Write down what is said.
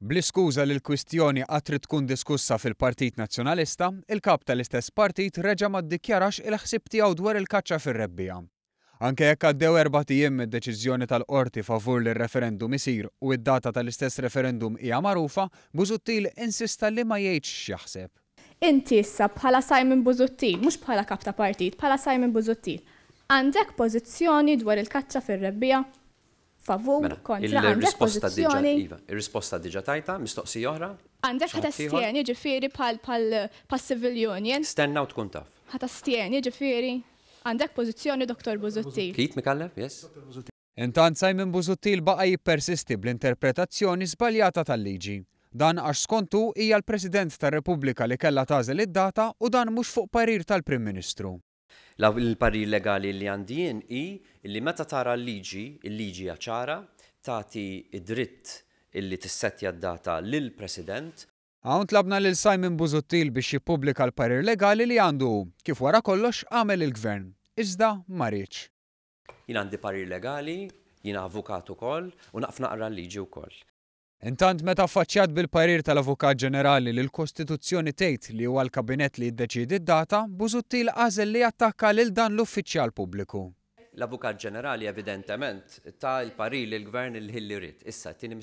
Bl-iskuża li l-kwistjoni għad trid tkun diskussa fil-Partit Nazzjonalista, il-Kap tal-istess partit reġa' ma ddikjarax il-ħsieb tiegħu dwar il-kaċċa fir-rebbiegħa. Anke jekk għaddew erbat ijiem mid-deċiżjoni tal-Qorti favur li r-referendum isir u d-data tal-istess referendum hija magħrufa, Busuttil insista li ma jgħidx x'jaħseb. Inti issa bħala Simon Busuttil, mhux bħala kap ta' partit, bħala Simon Busuttil, għandek pożizzjoni dwar il-kaċċa fir-rebbiegħa? Favur, Mela, kontra, għandek il-risposta diġà, pożizzjoni? iva, ir-risposta diġà tajtha, mistoqsija oħra? Għandek Xi ħadd ieħor? ħa tastjeni ġifieri bħal bħal bħas-civil union? Stenna u tkun taf. Ħa tastjeni ġifieri? Għandek pożizzjoni Dottor Busuttil? Keith Micallef, yes? Intant Simon Busuttil baqa' jippersisti bl-interpretazzjoni żbaljata tal-liġi. Dan għax skont hu hija l-President tar-Repubblika li kellha tagħżel id-data u dan mhux fuq parir tal-Prim Ministru. Il-parir legali li għandi jien hi li meta tara l-liġi, il-liġi hija ċara, tagħti d-dritt illi tissettja d-data lill-President. Hawn tlabna lil Simon Busuttil biex jippubblika l-parir legali li għandu hu, kif wara kollox għamel il-Gvern. Iżda ma riedx. Jien għandi parir legali, jiena avukat ukoll u naf naqra l-liġi wkoll. Intant meta affaċċjat bil-parir tal-Avukat Ġenerali li l-Kostituzzjoni tgħid li huwa l-Kabinett li jiddeċiedi d-data, Busuttil għażel li jattakka lil dan l-uffiċjal pubbliku. L-Avukat Ġenerali evidentement ta l-parir lill-Gvern il-ħin li ried. Issa, t-tieni.